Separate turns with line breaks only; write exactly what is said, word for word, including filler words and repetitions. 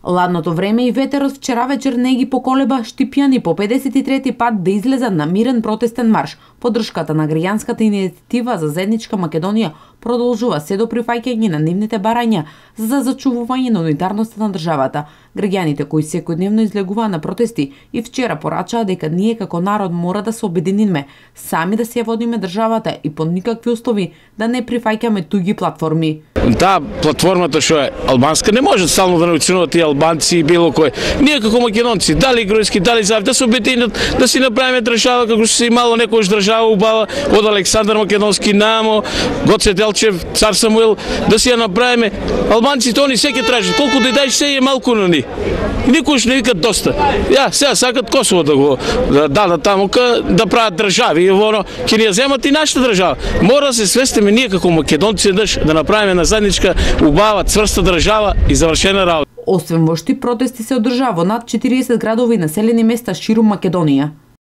Ладното време и ветерот вчера вечер не ги поколеба Штипјани по педесет и трети пат да излезат на мирен протестен марш. Поддршката на граѓанската иницијатива за заедничка Македонија продолжува се до прифаќање на нивните барања за зачувување на унитарноста на државата. Граѓаните кои секојдневно излегуваа на протести и вчера порачаа дека ние како народ мора да се обединиме, сами да се ја водиме државата и по никакви услови да не прифаќаме туѓи платформи.
Таа платформата што е албанска не може стално да научинуваат тие албанци и било кој. Ние како македонци, дали грузински, дали заев, да се обединат, да си направиме држава како што се имало некојаш држава убава од Александар Македонски намо, Гоце Делчев, цар Самуил, да си ја направиме. Албанците они се ќе тражат, колку да даеш се е малку на ни. Никош не викат доста. Ја, сега сакат Косово да го да дадат таму да прават држави и воно ќе ни ја земат и нашата држава. Мора да се свестиме ние како македонци да направиме на заедничка убава цврста држава и завршена работа.
Освен во Штип, протести се одржаа во над четириесет градови и населени места ширум Македонија.